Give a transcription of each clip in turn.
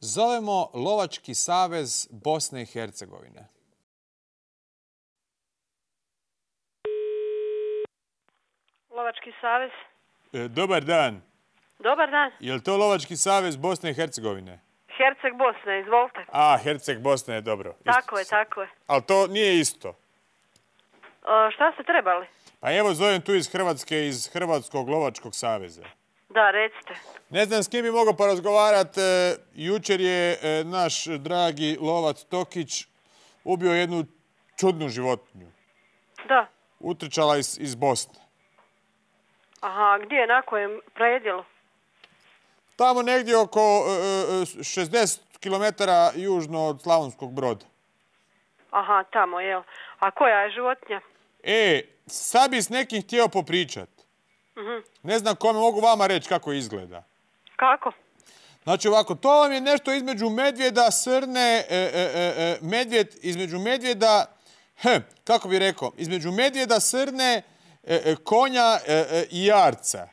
zovemo Lovački savez Bosne i Hercegovine. Lovački savez. Dobar dan. Dobar dan. Je li to Lovački savez Bosne i Hercegovine? Herceg Bosne, izvolite. A, Herceg Bosne je dobro. Tako je, tako je. Ali to nije isto. Šta ste trebali? Pa evo zovem tu iz Hrvatske, iz Hrvatskog Lovačkog saveza. Da, recite. Ne znam s kim bi mogao porazgovarati. Jučer je naš dragi lovac Tokić ubio jednu čudnu životinju. Da. Utrčala iz Bosne. Aha, gdje, na kojem predjelu? Tamo negdje oko 60 km južno od Slavonskog Broda. Aha, tamo, jel. A koja je životinja? Sad bi s nekim htio popričat. Ne znam kome, mogu vama reći kako izgleda. Kako? Znači ovako, to vam je nešto između medvjeda, srne, medvjed, između medvjeda, kako bi rekao, između medvjeda, srne, konja i jarca.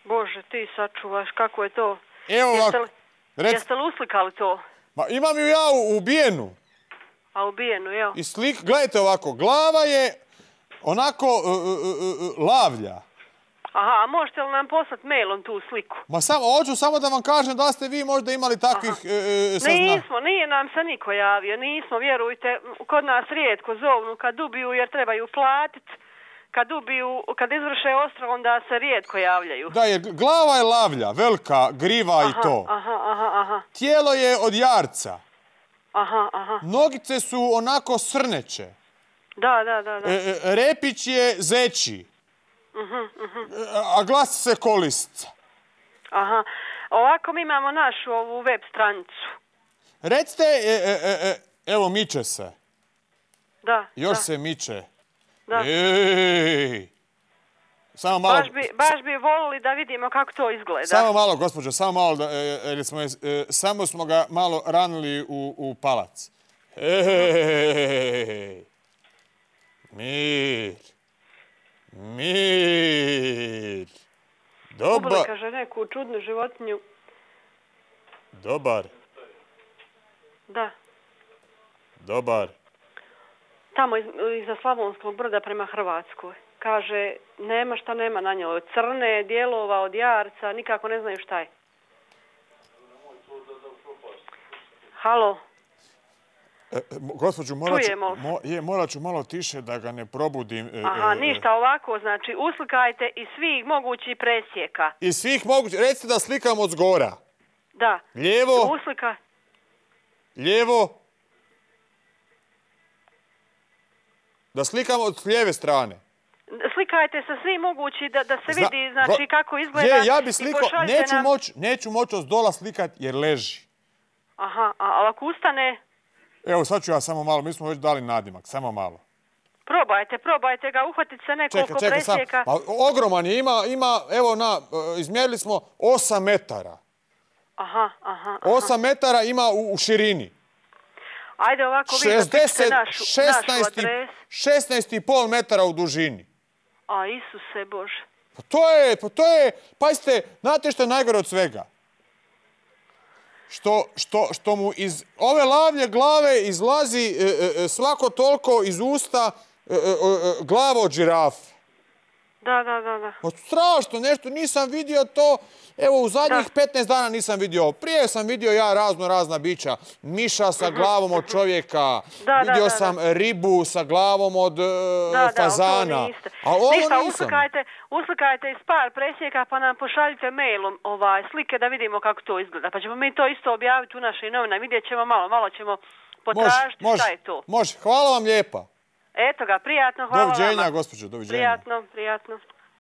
Bože, ti sačuvaš, kako je to? Evo ovako. Jeste li uslikali to? Ma imam ju ja ubijenu. A ubijenu, jel? I gledajte ovako, glava je onako lavlja. Aha, a možete li nam poslati mailom tu sliku? Ma hoću samo da vam kažem da ste vi možda imali takvih saznanja. Nismo, nije nam se niko javio, nismo, vjerujte, kod nas rijetko zovnu kad ubiju jer trebaju platiti. Kad izvrše ostrog, onda se rijetko javljaju. Da, jer glava je lavlja, velika, griva i to. Aha. Tijelo je od jarca. Aha. Nogice su onako srneće. Da. Repić je zeći. A glas se kolisca. Aha. Ovako mi imamo našu ovu web stranicu. Recite, evo miče se. Da. Još se miče. Da. Samo malo. Baš bi volili da vidimo kako to izgleda. Samo malo, gospođo, samo malo, jer samo smo ga malo ranili u palac. Mir. Ubili, kaže, neku čudnu životinju. Dobar. Da. Dobar. Tamo iza Slavonskog Broda prema Hrvatskoj. Kaže, nema šta nema na njoj. Od crne, dijelova, od jarca, nikako ne znaju šta je. Halo? Gospođu, morat ću malo tiše da ga ne probudim. Aha, ništa, ovako, znači, uslikajte iz svih mogućih presjeka. Iz svih mogućih, recite da slikam od zgora. Da. Lijevo. Uslika. Lijevo. Da slikam od lijeve strane. Slikajte sa svim mogući da se vidi, znači, kako izgleda. Ja bi slikao, neću moći od zdola slikat jer leži. Aha, a ako ustane? Evo, sad ću ja samo malo, mi smo već dali nadimak, samo malo. Probajte ga, uhvatiti se nekoliko presjeka. Ogroman je, ima, evo, izmjerili smo 8 metara. Aha. 8 metara ima u širini. Ajde ovako, vi zapišite našu adresu. 16,5 metara u dužini. A, Isuse Bože. Pa to je, pazite, znate što je najgore od svega? Što mu iz ove lavlje glave izlazi svako toliko iz usta glava od žirafe. Da. Strašno nešto, nisam vidio to. Evo, u zadnjih 15 dana nisam vidio. Prije sam vidio ja razna bića. Miša sa glavom od čovjeka. Vidio sam ribu sa glavom od fazana. Ništa, uslikajte iz par presjeka pa nam pošaljite mailom slike da vidimo kako to izgleda. Pa ćemo mi to isto objaviti u našoj novinama. Vidjet ćemo malo ćemo potražiti šta je to. Može, hvala vam lijepa. Eto ga, prijatno, hvala vama. Doviđenja, gospođo, doviđenja. Prijatno.